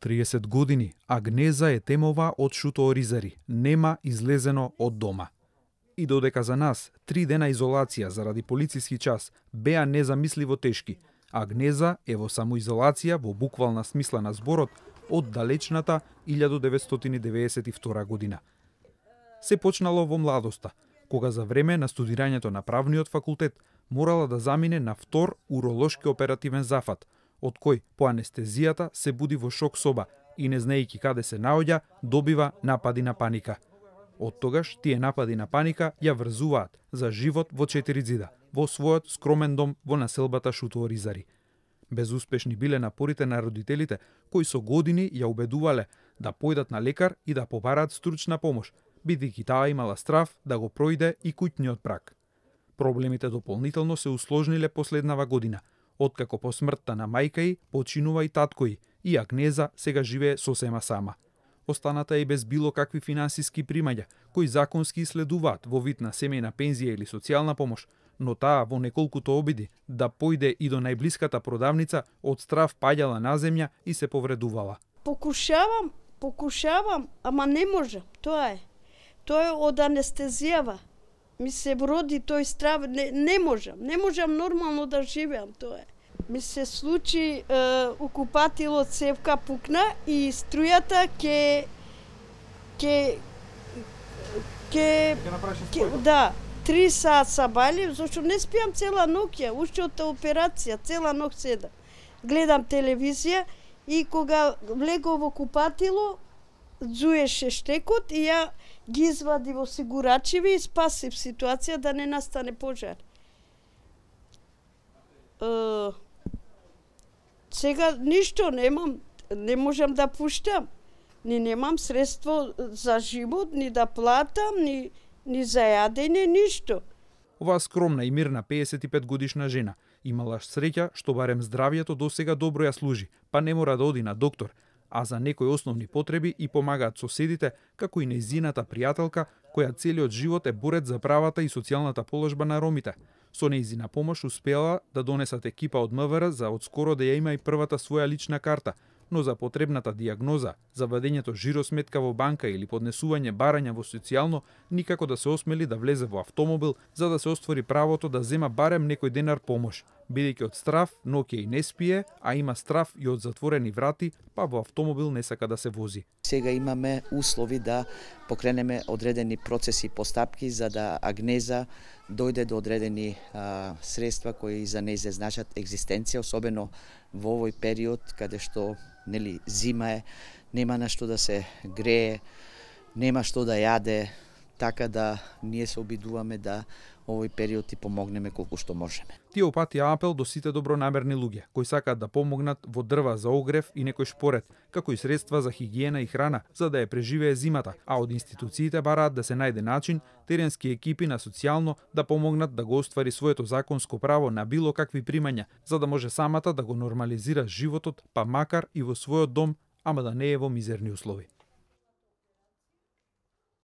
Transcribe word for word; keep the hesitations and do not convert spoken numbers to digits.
триесет години Агнеза е темова од шутооризари, нема излезено од дома. И додека за нас три дена изолација заради полициски час беа незамисливо тешки, Агнеза е во самоизолација во буквална смисла на зборот од далечната илјада деветстотини деветдесет и втора година. Се почнало во младоста, кога за време на студирањето на правниот факултет морала да замине на втор уролошки оперативен зафат, од кој по анестезијата се буди во шок соба и не знаејќи каде се наоѓа, добива напади на паника. Од тогаш тие напади на паника ја врзуваат за живот во четири ѕида, во својот скромен дом во населбата Шутооризари. Безуспешни биле напорите на родителите, кои со години ја убедувале да појдат на лекар и да побараат стручна помош, бидејќи таа имала страв да го пројде и куќниот брак. Проблемите дополнително се усложниле последнава година, откако по смртта на мајка ѝ починува и татко ѝ, и Агнеза сега живее сосема сама. Останата е без било какви финансиски примања, кои законски следуваат во вид на семејна пензија или социјална помош, но таа во неколкуто обиди да појде и до најблиската продавница, од страв паѓала на земја и се повредувала. Покушавам, покушавам, ама не можам, тоа е. Тоа е од анестезијава. Ми се вроди тој страв, не, не можам, не можам нормално да живеам, тоа е. Ми се случи, е, окупатилот цевка пукна и струјата ке ке ке ке да, три саат сабали, зашто не спиам цела ноќ, уште од операција, цела ноќ седам. Гледам телевизија и кога влегов во купатило, зуеше штекот и ја ги извади во сигурачеви и спасив ситуација да не настане пожар. Е, сега ништо немам, не можам да пуштам. Ни немам средство за живот, ни да платам, ни, ни за јадење, ништо. Оваа скромна и мирна пеесет и пет годишна жена имала среќа што барем здравието досега добро ја служи, па не мора да оди на доктор, а за некои основни потреби и помагаат соседите, како и нејзината пријателка, која целиот живот е борец за правата и социјалната положба на ромите. Со нејзина помош успеала да донесат екипа од МВР за одскоро да ја има и првата своја лична карта, но за потребната диагноза, за вадењето жиросметка во банка или поднесување барања во социјално, никако да се осмели да влезе во автомобил за да се оствори правото да зема барем некој денар помош, бидејќи од страв ноќе и не спие, а има страв и од затворени врати, па во автомобил не сака да се вози. Сега имаме услови да покренеме одредени процеси и постапки за да Агнеза дојде до одредени а, средства кои за неј значат екзистенција, особено во овој период каде што нели зима е, нема на што да се грее, нема што да јаде, така да ние се обидуваме да овој период и помогнеме колку што можеме. Тие опатија апел до сите добронамерни луѓе кои сакаат да помогнат во дрва за огрев и некој шпоред, како и средства за хигиена и храна за да ја преживее зимата, а од институциите бараат да се најде начин теренски екипи на социјално да помогнат да го оствари своето законско право на било какви примања, за да може самата да го нормализира животот, па макар и во својот дом, ама да не е во мизерни услови.